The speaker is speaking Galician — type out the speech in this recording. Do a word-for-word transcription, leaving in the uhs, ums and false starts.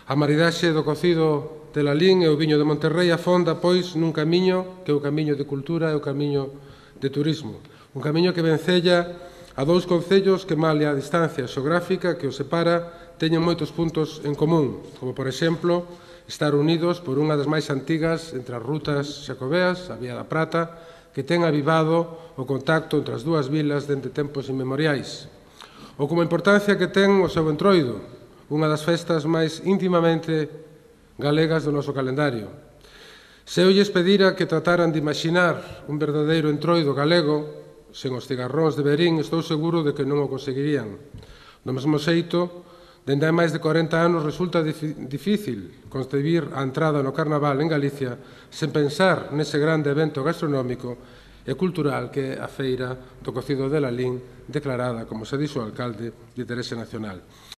A maridaxe do cocido de Lalín e o viño de Monterrei afonda, pois, nun camiño que é o camiño de cultura e o camiño de turismo. Un camiño que vencella a dous concellos que, malia a distancia xeográfica que os separa, teñen moitos puntos en común, como, por exemplo, estar unidos por unha das máis antigas entre as rutas xacobeas, a Vía da Prata, que ten avivado o contacto entre as dúas vilas dende tempos inmemoriais. Ou como a importancia que ten o seu entroido, unha das festas máis íntimamente galegas do noso calendario. Se eu lles pedira que trataran de imaxinar un verdadeiro entroido galego, sen os cigarróns de Verín, estou seguro de que non o conseguirían. Do mesmo xeito, dende hai máis de corenta anos resulta difícil concebir a entrada no Carnaval en Galicia sen pensar nese grande evento gastronómico e cultural que é a Feira do Cocido de Lalín, declarada, como se dixo o alcalde, de interese nacional.